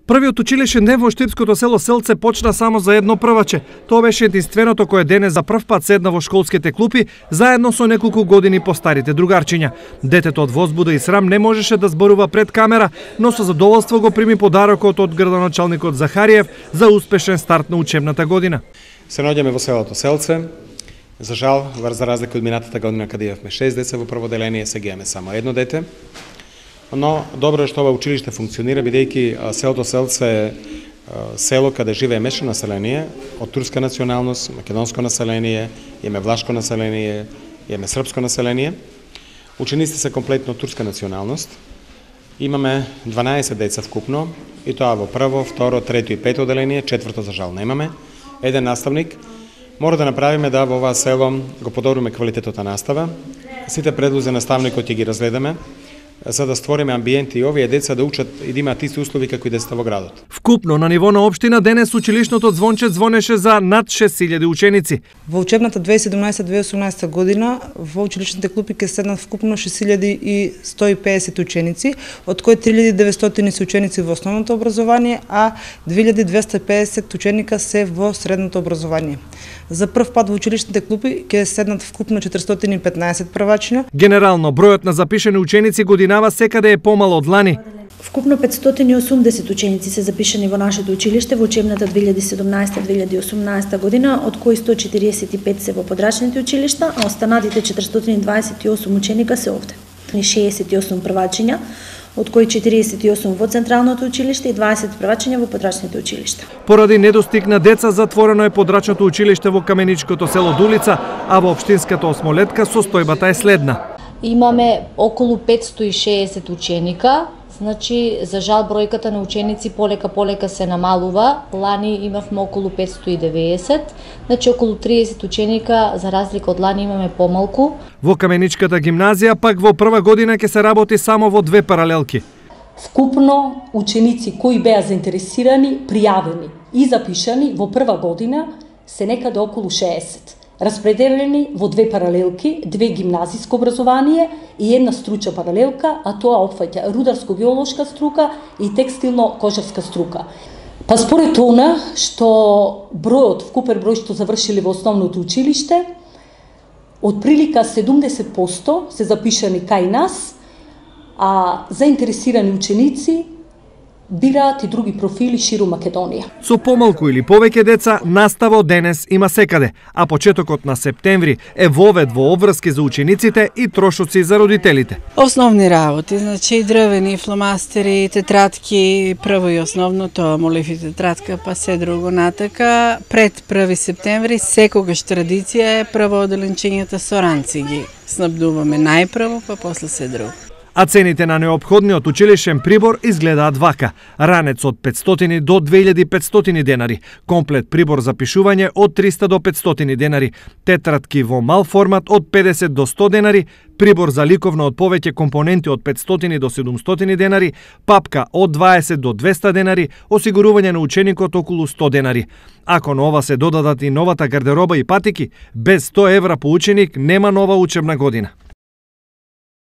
Првиот училишен ден во штипското село Селце почна само за едно прваче. Тоа беше единственото кое денес за прв пат седна во школските клупи заедно со неколку години постарите другарчиња. Детето од возбуда и срам не можеше да зборува пред камера, но со задоволство го прими подарокот од градоначалникот Захариев за успешен старт на учебната година. Се наоѓаме во селото Селце. За жал, за разлика од минатата година каде имавме 6 деца во прво деление, сега имаме само едно дете. Но добро е што ова училиште функционира, бидејќи селото Селце е село каде живее мешано население од турска националност, македонско население, имаме влашко население, имаме српско население. Учениците се комплетно турска националност. Имаме 12 деца вкупно, и тоа во прво, второ, трето и пето деление, четврто за жал немаме. Еден наставник. Мора да направиме да во ова село го подобриме квалитетот на настава. Сите предлози наставникот ќе ги разгледаме, за да створиме амбиент и овие деца да учат и да имаат исти услови како и децата во градот. Вкупно на ниво на општина денес училишното звонче звонеше за над 6000 ученици. Во учебната 2017-2018 година во училишните клупи ќе седнат вкупно 6150 ученици, од кои 3900 се ученици во основното образование, а 2250 ученика се во средното образование. За прв пат во училишните клупи ќе седнат вкупно 415 првачиња. Генерално бројот на запишани ученици годинава секаде е помал од лани. Вкупно 580 ученици се запишани во нашето училиште во учебната 2017-2018 година, од кои 145 се во подрачните училишта, а останатите 428 ученика се овде. 68 првачиња, од кои 48 во централното училиште и 20 првачиња во подрачните училишта. Поради недостиг на деца затворено е подрачното училиште во каменичкото село Дулица, а во општинската осмолетка состојбата е следна. Имаме околу 560 ученика, значи за жал бројката на ученици полека се намалува. Лани имавме околу 590, значи околу 30 ученика, за разлика од лани имаме помалку. Во каменичката гимназија пак во прва година ќе се работи само во 2 паралелки. Вкупно ученици кои беа заинтересирани, пријавени и запишани во прва година се некаде околу 60. Распределени во 2 паралелки, 2 гимназиско образование и една стручна паралелка, а тоа опфаќа рударско-биолошка струка и текстилно-кожарска струка. Па според она што бројот, вкупен број што завршили во основното училиште, од прилика 70% се запишани кај нас, а заинтересирани ученици бираат и други профили ширум Македонија. Со помалку или повеќе деца, настава денес има секаде, а почетокот на септември е вовед во обврски за учениците и трошоци за родителите. Основни работи, значи дрвени, фломастери, тетрадки, прво и основно тоа молив и тетрадка, па се друго натака. Пред 1 септември секогаш традиција е прво оделенчењата со ранци ги снабдуваме најпрво, па после се друго. А цените на неопходниот училишен прибор изгледаат вака. Ранец од 500 до 2500 денари, комплет прибор за пишување од 300 до 500 денари, тетрадки во мал формат од 50 до 100 денари, прибор за ликовно од повеќе компоненти од 500 до 700 денари, папка од 20 до 200 денари, осигурување на ученикот околу 100 денари. Ако на ова се додадат и новата гардероба и патики, без 100 евра по ученик нема нова учебна година.